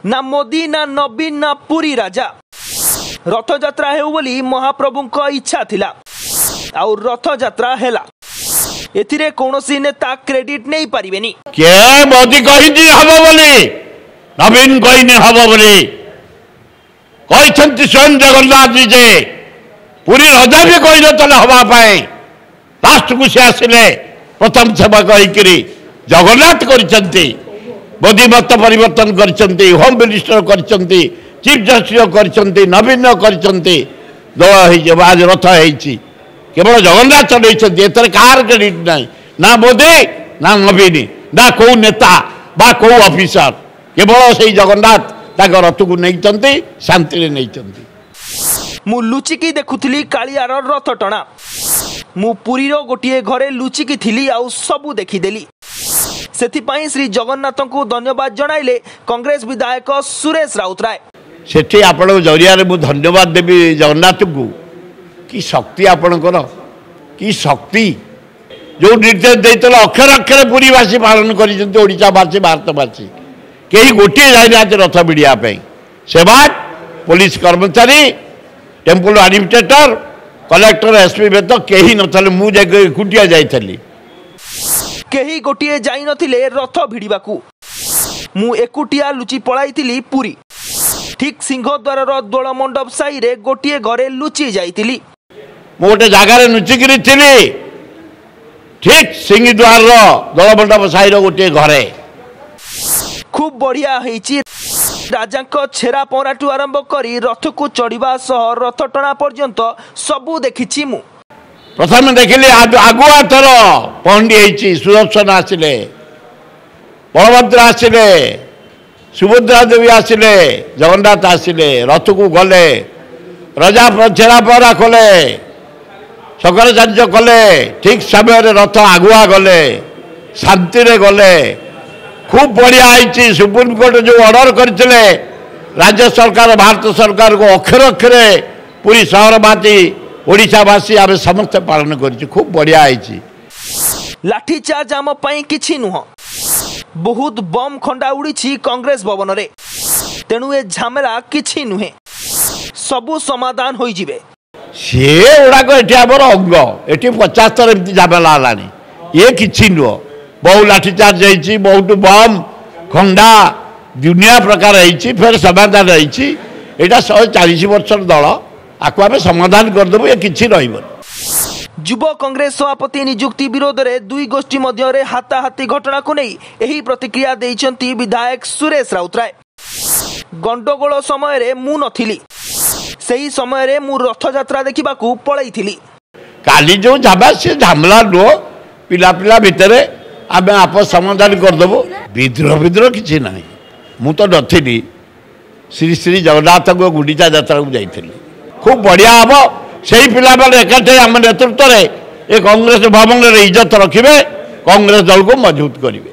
ନା ମୋଦି, ନା ନବୀନ, ନା ପୁରୀ ରାଜା। ରଥଯାତ୍ରା ହେଉ ବୋଲି ମହାପ୍ରଭୁଙ୍କ ଇଚ୍ଛା ଥିଲା ଆଉ ରଥଯାତ୍ରା ହେଲା। ଏଥିରେ କୌଣସି ନେତା କ୍ରେଡିଟ୍ ନେଇପାରିବେନି। କିଏ ମୋଦି କହିଛି ହବ ବୋଲି, ନବୀନ କହିନି ହବ ବୋଲି, କହିଛନ୍ତି ସ୍ୱୟଂ ଜଗନ୍ନାଥ ନିଜେ। ପୁରୀ ରଜା ବି କହିନଥିଲେ ହବା ପାଇଁ, ଲାଷ୍ଟକୁ ସେ ଆସିଲେ ପ୍ରଥମ ସେବକ ହେଇକିରି। ଜଗନ୍ନାଥ କରିଛନ୍ତି, ମୋଦି ମତ ପରିବର୍ତ୍ତନ କରିଛନ୍ତି, ହୋମ୍ ମିନିଷ୍ଟର କରିଛନ୍ତି, ଚିଫ୍ ଜଷ୍ଟିସ୍ କରିଛନ୍ତି, ନବୀନ କରିଛନ୍ତି, ଦୋଳ ହେଇଛି, ଆଜି ରଥ ହେଇଛି। କେବଳ ଜଗନ୍ନାଥ ଚଲେଇଛନ୍ତି, ଏଥିରେ କାହାର କ୍ରେଡିଟ୍ ନାହିଁ, ନା ମୋଦି, ନା ନବୀନ, ନା କୋଉ ନେତା ବା କୋଉ ଅଫିସର। କେବଳ ସେଇ ଜଗନ୍ନାଥ ତାଙ୍କ ରଥକୁ ନେଇଛନ୍ତି, ଶାନ୍ତିରେ ନେଇଛନ୍ତି। ମୁଁ ଲୁଚିକି ଦେଖୁଥିଲି କାଳିଆର ରଥ ଟଣା। ମୁଁ ପୁରୀର ଗୋଟିଏ ଘରେ ଲୁଚିକି ଥିଲି ଆଉ ସବୁ ଦେଖିଦେଲି। ସେଥିପାଇଁ ଶ୍ରୀ ଜଗନ୍ନାଥଙ୍କୁ ଧନ୍ୟବାଦ ଜଣାଇଲେ କଂଗ୍ରେସ ବିଧାୟକ ସୁରେଶ ରାଉତରାୟ। ସେଠି ଆପଣଙ୍କ ଜରିଆରେ ମୁଁ ଧନ୍ୟବାଦ ଦେବି ଜଗନ୍ନାଥଙ୍କୁ। କି ଶକ୍ତି ଆପଣଙ୍କର, କି ଶକ୍ତି! ଯେଉଁ ନିର୍ଦ୍ଦେଶ ଦେଇଥିଲେ ଅକ୍ଷର ଅକ୍ଷରେ ପୁରୀବାସୀ ପାଳନ କରିଛନ୍ତି, ଓଡ଼ିଶାବାସୀ, ଭାରତବାସୀ। କେହି ଗୋଟିଏ ଯାଇନାହାନ୍ତି ରଥ ଭିଡ଼ିବା ପାଇଁ। ସେବା ପୋଲିସ କର୍ମଚାରୀ, ଟେମ୍ପଲ ଆଡମିନିଷ୍ଟ୍ରେଟର, କଲେକ୍ଟର, ଏସ୍ପି ବ୍ୟତୀତ କେହି ନଥିଲେ। ମୁଁ ଯାଇକି ଏକୁଟିଆ ଯାଇଥିଲି। କେହି ଗୋଟିଏ ଯାଇନଥିଲେ ରଥ ଭିଡ଼ିବାକୁ। ମୁଁ ଏକୁଟିଆ ଲୁଚି ପଳାଇଥିଲି ପୁରୀ। ଠିକ୍ ସିଂହଦ୍ୱାରର ଦୋଳ ମଣ୍ଡପ ସାହିରେ ଗୋଟିଏ ଘରେ ଲୁଚି ଯାଇଥିଲି। ମୁଁ ଗୋଟେ ଜାଗାରେ ଲୁଚିକିରି ଥିଲି, ଠିକ୍ ସିଂହଦ୍ୱାରର ଦୋଳମଣ୍ଡପ ସାହିର ଗୋଟିଏ ଘରେ। ଖୁବ୍ ବଢ଼ିଆ ହେଇଛି। ରାଜାଙ୍କ ଛେରା ପହଁରାଠୁ ଆରମ୍ଭ କରି ରଥକୁ ଚଢ଼ିବା ସହ ରଥ ଟଣା ପର୍ଯ୍ୟନ୍ତ ସବୁ ଦେଖିଛି ମୁଁ। ପ୍ରଥମେ ଦେଖିଲି ଆଗୁଆ ଥର ପହଣ୍ଡି ହେଇଛି, ସୁଦର୍ଶନ ଆସିଲେ, ବଳଭଦ୍ର ଆସିଲେ, ସୁଭଦ୍ରା ଦେବୀ ଆସିଲେ, ଜଗନ୍ନାଥ ଆସିଲେ, ରଥକୁ ଗଲେ, ରଜା ଛେରା ପହଁରା କଲେ, ଶଙ୍କରାଚାର୍ଯ୍ୟ କଲେ। ଠିକ୍ ସମୟରେ ରଥ ଆଗୁଆ ଗଲେ, ଶାନ୍ତିରେ ଗଲେ। ଖୁବ୍ ବଢ଼ିଆ ହେଇଛି। ସୁପ୍ରିମକୋର୍ଟ ଯେଉଁ ଅର୍ଡ଼ର କରିଥିଲେ ରାଜ୍ୟ ସରକାର, ଭାରତ ସରକାରକୁ, ଅକ୍ଷର ଅକ୍ଷରେ ପୁରୀ ସହରବାସୀ, ଓଡ଼ିଶାବାସୀ ଆମେ ସମସ୍ତେ ପାଳନ କରିଛୁ। ଖୁବ୍ ବଢ଼ିଆ ହେଇଛି। ଲାଠିଚାର୍ଜ ଆମ ପାଇଁ କିଛି ନୁହଁ। ବହୁତ ବମ୍ ଖଣ୍ଡା ଉଡ଼ିଛି କଂଗ୍ରେସ ଭବନରେ। ତେଣୁ ଏ ଝାମେଲା କିଛି ନୁହେଁ, ସବୁ ସମାଧାନ ହୋଇଯିବେ। ସେ ଗୁଡ଼ାକ ଏଠି ଆମର ଅଙ୍ଗ। ଏଠି 50 ଥର ଏମିତି ଝାମେଲା ହେଲାଣି, ଇଏ କିଛି ନୁହଁ। ବହୁ ଲାଠିଚାର୍ଜ ହେଇଛି, ବହୁତ ବମ୍ ଖଣ୍ଡା ଦୁନିଆ ପ୍ରକାର ହେଇଛି, ଫେର ସମାଧାନ ହେଇଛି। ଏଇଟା 140 ବର୍ଷର ଦଳ, ଆକୁ ଆମେ ସମାଧାନ କରିଦେବୁ, ଏ କିଛି ରହିବନି। ଯୁବ କଂଗ୍ରେସ ସଭାପତି ନିଯୁକ୍ତି ବିରୋଧରେ ଦୁଇ ଗୋଷ୍ଠୀ ମଧ୍ୟରେ ହାତାହାତି ଘଟଣାକୁ ନେଇ ଏହି ପ୍ରତିକ୍ରିୟା ଦେଇଛନ୍ତି ବିଧାୟକ ସୁରେଶ ରାଉତରାୟ। ଗଣ୍ଡଗୋଳ ସମୟରେ ମୁଁ ନଥିଲି, ସେହି ସମୟରେ ମୁଁ ରଥଯାତ୍ରା ଦେଖିବାକୁ ପଳେଇଥିଲି। କାଲି ଯେଉଁ ଝାମେଲା, ସେ ଝାମେଲା ନୁହଁ, ପିଲା ପିଲା ଭିତରେ ଆମେ ଆପସ ସମାଧାନ କରିଦେବୁ। ବିଦ୍ରୋହ ବିଦ୍ରୋହ କିଛି ନାହିଁ। ମୁଁ ତ ନଥିଲି, ଶ୍ରୀ ଶ୍ରୀ ଜଗନ୍ନାଥଙ୍କ ଗୁଣ୍ଡିଚା ଯାତ୍ରାକୁ ଯାଇଥିଲି। ଖୁବ୍ ବଢ଼ିଆ ହେବ। ସେଇ ପିଲାମାନେ ଏକାଠି ଆମ ନେତୃତ୍ୱରେ ଏ କଂଗ୍ରେସ ଭବନରେ ଇଜ୍ଜତ ରଖିବେ, କଂଗ୍ରେସ ଦଳକୁ ମଜବୁତ କରିବେ।